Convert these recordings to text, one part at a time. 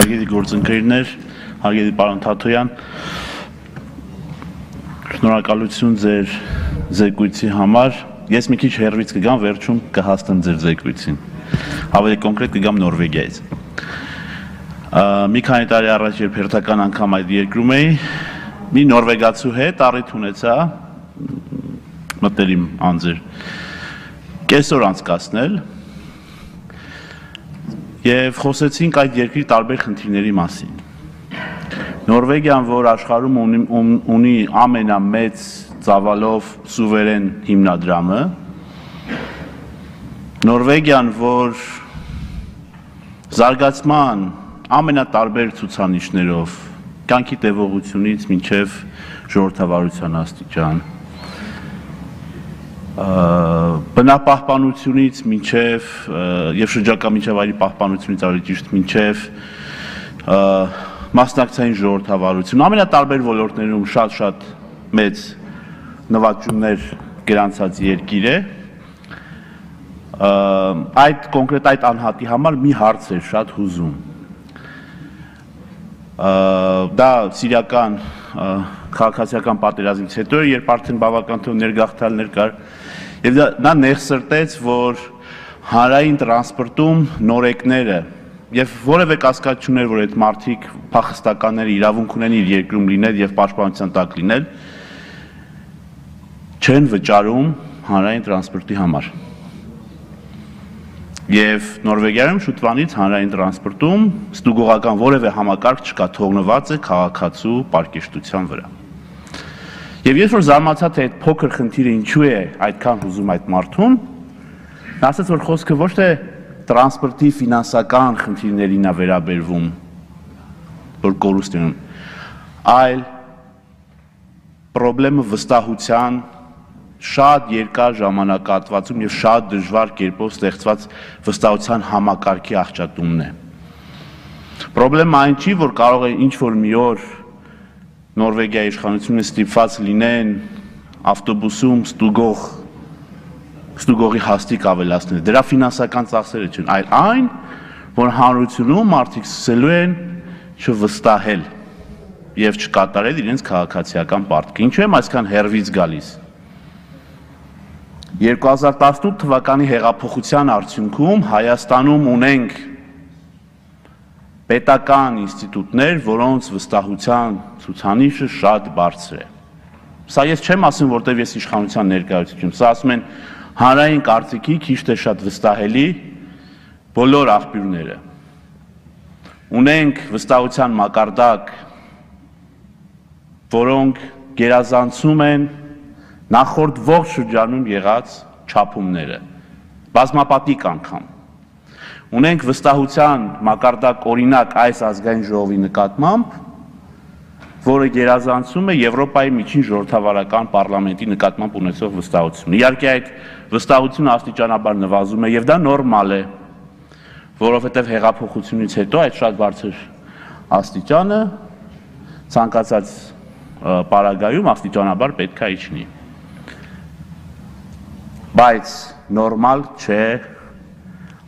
Հարգելի գործընկերներ, հարգելի պարոն Թաթոյան, շնորհակալություն ձեր զեկույցի համար։ Ես մի քիչ հեռվից կգամ, վերջում կհաստեմ ձեր զեկույցին։ Ավելի կոնկրետ կգամ Նորվեգիայից։ Մի քանի տարի առաջ երբ հերթական անգամ այդ երկրում էի, մի նորվեգացու հետ առիթ ունեցա մտերիմ անձեր կեսօր անցկացնել եւ խոսեցինք այդ երկրի տարբեր խնդիրների մասին։ Նորվեգիան, որ աշխարհում ունի ամենամեծ ծավալով սուվերեն հիմնադրամը, Նորվեգիան, որ զարգացման ամենատարբեր ցուցանիշներով, կյանքի տևողությունից մինչև ժողովրդավարության աստիճան, բնապահպանությունից մինչև եւ շրջակա միջավայրի պահպանությունից ավելի ճիշտ մինչև մասնակցային ժողովրդավարություն, ամենատարբեր ոլորտներում շատ մեծ նվաճումներ գրանցած երկիր է։ Այդ կոնկրետ այդ անհատի համար մի հարց էր շատ հուզում։ Դա սիրիական քաղաքացիական պատերազմից հետո երբ արդեն բավական թվով ներգաղթյալներ կար, եւ նա նեղսրտեց, որ հանրային տրանսպորտում նորեկները եւ որևէ կասկած չուներ, որ այդ մարդիկ փախստականները իրավունք ունեն իր երկրում լինել եւ պաշտպանության տակ լինել, չեն վճարում հանրային տրանսպորտի համար։ Եվ Նորվեգիայում շուտվանից հանրային տրանսպորտում ստուգողական որևէ համակարգ չկա, թողնված է քաղաքացու պարկեշտության վրա։ Եվ ես որ զարմացա, թե այդ փոքր խնդիրը ինչու է այդքան հուզում այդ մարդուն, նա ասաց, որ խոսքը ոչ թե տրանսպորտի ֆինանսական խնդիրներին է վերաբերվում, որ կորուստ լինում, այլ խնդիրը վստահության շատ երկար ժամանակահատվածում եւ շատ դժվար կերպով ստեղծված վստահության համակարգի աղճատումն է։ Խնդրեմն այն չի, որ կարող է ինչ-որ մի օր Նորվեգիայի իշխանությունը ստիպված լինեն ավտոբուսում ստուգողի հաստիք ավելացնել։ Դրա ֆինանսական ծախսերը չեն, այլ այն, որ հանրությունում մարդիկ սկսելու են չվստահել եւ չկատարել իրենց քաղաքացիական պարտքը։ Ինչու եմ այսքան հեռվից գալիս։ 2018 թվականի հեղափոխության արդյունքում Հայաստանում ունենք պետական ինստիտուտներ, որոնց վստահության ցուցանիշը շատ բարձր է։ Սա ես չեմ ասում, որտեղ ես իշխանության ներկայացուցիչ եմ, սա ասում են հանրային կարծիքի քիչ թե շատ վստահելի բոլոր աղբյուրները։ Ունենք վստահության մակարդակ, որոնք գերազանցում են նախորդ ողջ շրջանում եղած չափումները, բազմապատիկ անգամ։ Ունենք վստահության մակարդակ օրինակ այս ազգային ժողովի նկատմամբ, որը գերազանցում է Եվրոպայի միջին ժողովրդավարական պարլամենտի նկատմամբ ունեցող վստահությունը։ Իհարկե այդ վստահությունը աստիճանաբար նվազում է եւ դա նորմալ է, որովհետեւ հեղափոխությունից հետո այդ շատ բարձր աստիճանը ցանկացած պարագայում աստիճանաբար պետք է իջնի։ Բայց նորմալ չէ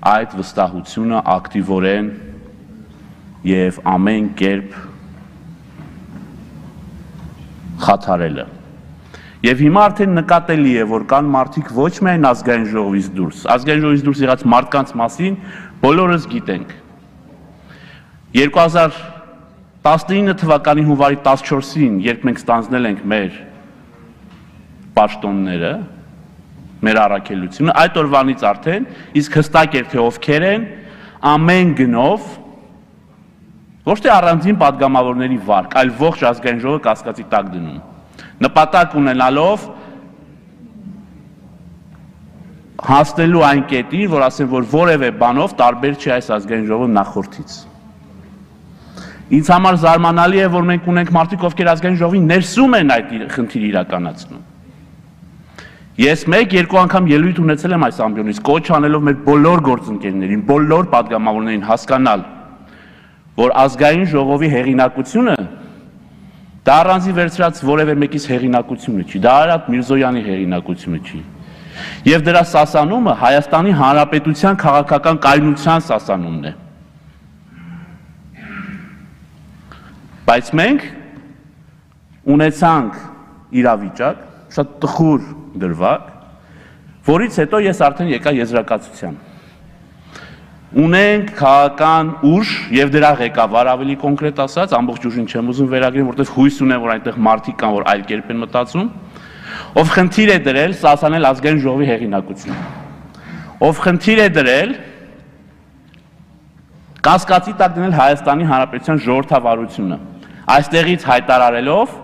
այդ վստահությունը ակտիվորեն եւ ամեն կերպ խաթարելը։ Եվ հիմա արդեն նկատելի է, որ կան մարդիկ ոչ միայն ազգային ժողովից դուրս եղած մարդկանց մասին բոլորս գիտենք։ 2019 թվականի հունվարի 14-ին, երբ մենք ստանձնել ենք մեր պաշտոնները, մեր առաքելությունը, այդ օրվանից արդեն իսկ հստակ էր, թե ովքեր են ամեն գնով ոչ թե առանձին падգամավորների վարկ, այլ ողջ ազգային ժողովը կասկածի տակ դնում։ Նպատակ ունենալով հասնելու այն կետին, որ ասեն, որ որևէ բանով տարբեր չի այս ազգային ժողովը նախորդից։ Ինձ համար զարմանալի է, որ մենք ունենք մարդիկ, ովքեր ազգային ժողովի ներսում են այդ խնդիրը իրականացնում։ Ես մեկ-երկու անգամ ելույթ ունեցել եմ այս ամբիոնից, կոչ անելով մեր բոլոր գործընկերներին, բոլոր падգամավորներին հասկանալ, որ ազգային ժողովի հեղինակությունը դա առանձին վերցրած որևէ մեկից հեղինակությունը չի, դա Արարատ Միրզոյանի հեղինակությունը չի։ Եվ դրա սասանումը Հայաստանի Հանրապետության քաղաքական կայունության սասանումն է։ Բայց մենք ունեցանք իրավիճակ, շատ տխուր դրվագ, որից հետո ես արդեն եկա եզրակացության։ Ունենք քաղաքական ուժ եւ դրա ղեկավար ավելի կոնկրետ ասած, ամբողջ ուժին չեմ ուզում վերագրել, որտեղ հույս ունեմ, որ այնտեղ մարդիկ կան, որ այլ կերպ են մտածում, ով խնդիր է դրել Սասանել ազգային ժողովի հեղինակությունը, ով խնդիր է դրել կասկածի տակ դնել Հայաստանի Հանրապետության ժողովրդավարությունը, այստեղից հայտարարելով,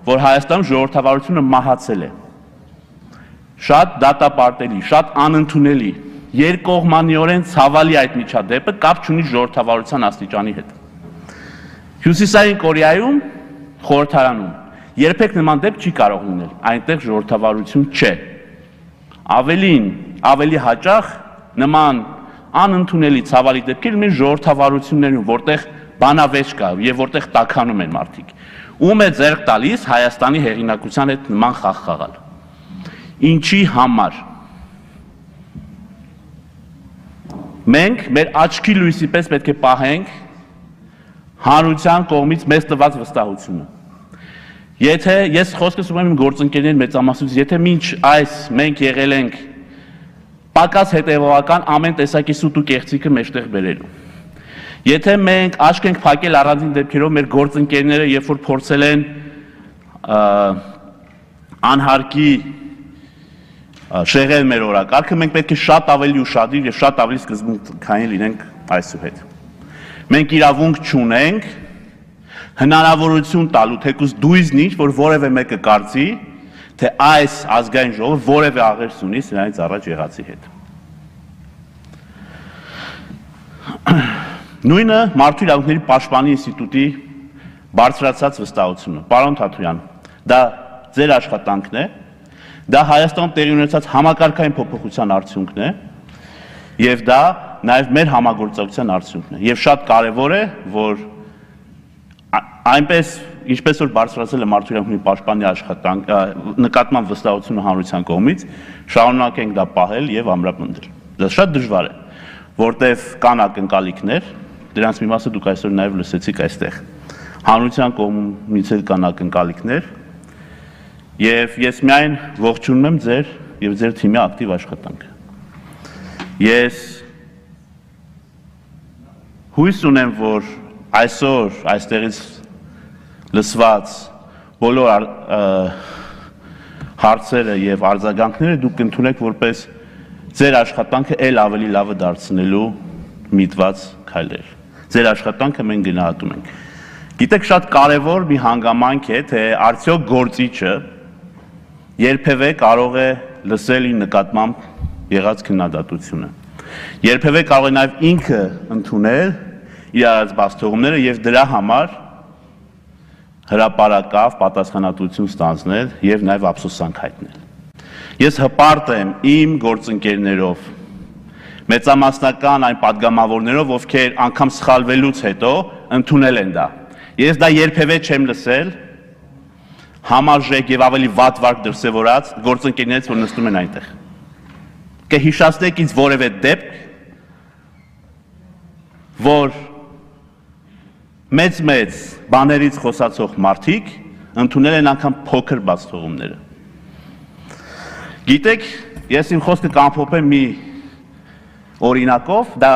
որ Հայաստանում ժողովրդավարությունը մահացել է։ Շատ դատապարտելի, շատ անընդունելի, երկկողմանիորեն ցավալի այդ միջադեպը կապ չունի ժողովրդավարության աստիճանի հետ։ Հյուսիսային Կորեայում, խորհրդարանում, երբեք նման դեպք չի կարող լինել, այնտեղ ժողովրդավարություն չէ։ Ավելին, ավելի հաճախ նման անընդունելի ցավալի դեպքեր ունեն ժողովրդավարություններում, որտեղ բանավեճ կա եւ որտեղ տաքանում են մարդիկ։ Ում է ձեռք տալիս Հայաստանի հեղինակության հետ նման խաղ խաղալ։ Ինչի համար։ Մենք մեր աչքի լույսի պես պետք է պահենք հանրության կողմից մեզ տված վստահությունը։ Եթե ես խոսքս ունեմ իմ գործընկերների մեծամասնությունից, եթե մինչ այս մենք եղել ենք պակաս հետևողական ամեն տեսակի սուտ ու կեղծիքը մեջտեղ բերելու։ Եթե մենք աչք ենք փակել առանձին դեպքերով մեր գործընկերները, երբ որ փորձել են անհարկի շեղել մեր օրակարգը, մենք պետք է շատ ավելի ուշադիր եւ շատ ավելի սկզբունքային լինենք այսուհետ։ Մենք իրավունք չունենք հնարավորություն տալու թեկուզ դույզնիչ, որ որևէ մեկը կարծի, թե այս ազգային ժողովը որևէ աղերս ունի սրանից առաջ եղածի հետ։ Նույնը մարդու իրավունքների պաշտպանի ինստիտուտի բարձրացած վստահությունը։ Պարոն Թաթոյան, դա ձեր աշխատանքն է, դա Հայաստանում տեղի ունեցած համակարգային փոփոխության արդյունքն է, եւ դա նաեւ մեր համագործակցության արդյունքն է։ Եվ շատ կարեւոր է, որ այնպես ինչպես որ բարձրացել է մարդու իրավունքների պաշտպանի աշխատանք, նկատմամբ վստահությունը հանրության կողմից, շարունակենք դա պահել եւ ամրապնդել։ Դա շատ դժվար է, որտեվ կան ակնկալիքներ, դրանց մի մասը դուք այսօր նաեւ լսեցիք այստեղ։ Հանրության կողմից էլ կան ակնկալիքներ, եւ ես միայն ողջունում եմ ձեր եւ ձեր թիմի ակտիվ աշխատանքը։ Ես հույս ունեմ, որ այսօր այստեղից լսված բոլոր հարցերը եւ արձագանքները դուք կընդունեք որպես ձեր աշխատանքը ել ավելի լավը դարձնելու միտված քայլեր։ Ձեր աշխատանքը մենք գնահատում ենք։ Գիտեք, շատ կարևոր մի հանգամանք է, թե արդյոք գործիչը երբևէ կարող է լսել իր նկատմամբ եղած քննադատությունը։ Երբևէ կարող է նաեւ ինքը ընդունել իր արած բացթողումները եւ դրա համար հրապարակավ պատասխանատվություն ստանձնել եւ նաեւ ափսոսանք հայտնել։ Ես հպարտ եմ իմ գործընկերներով, մեծամասնական այն падգամավորներով, ովքեր անգամ սխալվելուց հետո ընդունել են դա։ Ես դա երբևէ չեմ լսել համարժեք եւ ավելի վատ վարք դրսեւորած գործընկերներից, որ նստում են այնտեղ։ Կհիշացնեք ինձ որևէ դեպք, որ մեծ բաներից խոսացող մարդիկ ընդունել են անգամ փոքր բացթողումները։ Գիտեք, ես իմ խոսքը կամփոփեմ մի օրինակով, դա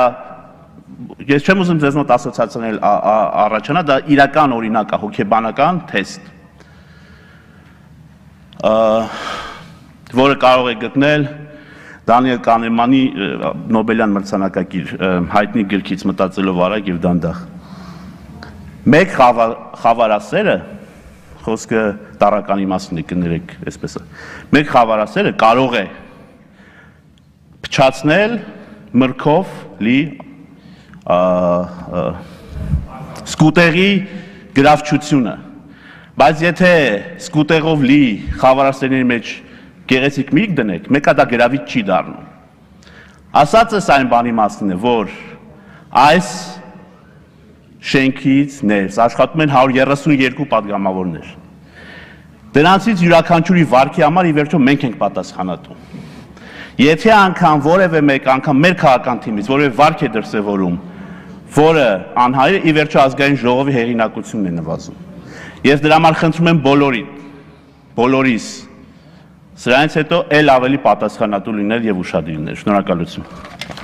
ես չեմ ուզում ձեզ մոտ ասոցիացիաներ առաջանա, դա իրական օրինակ է, հոգեբանական թեստ, որը կարող է գտնել Դանիել Կանեմանի Նոբելյան մրցանակակիր հայտնի գրքից մտածելով արագ եւ դանդաղ։ Մեկ խավարասերը, խոսքը տարական իմաստն է կներեք այսպես է, մեկ խավարասերը կարող է փչացնել մրգով լի սկուտերի գրավչությունը, բայց եթե սկուտերով լի խավարասերների մեջ գեղեցիկ միրգ դնեք, մեկը դա գրավիչ չի դառնում։ Ասածս այն բանի մասին է, որ այս շենքից ներս աշխատում են 132 падգամավորներ։ Դրանցից յուրաքանչյուրի վարքի համար ի վերջո մենք ենք պատասխանատու։ Եթե անգամ որևէ մեկ անգամ մեր քաղաքական թիմից որևէ վարք է դրսևորում, որը անհայր է, ի վերջո ազգային ժողովի հեղինակությունն է նվազում։ Ես դրա համար խնդրում եմ բոլորիս, սրանից հետո էլ ավելի պատասխանատու լինել եւ ուշադիր լինել։ Շնորհակալություն։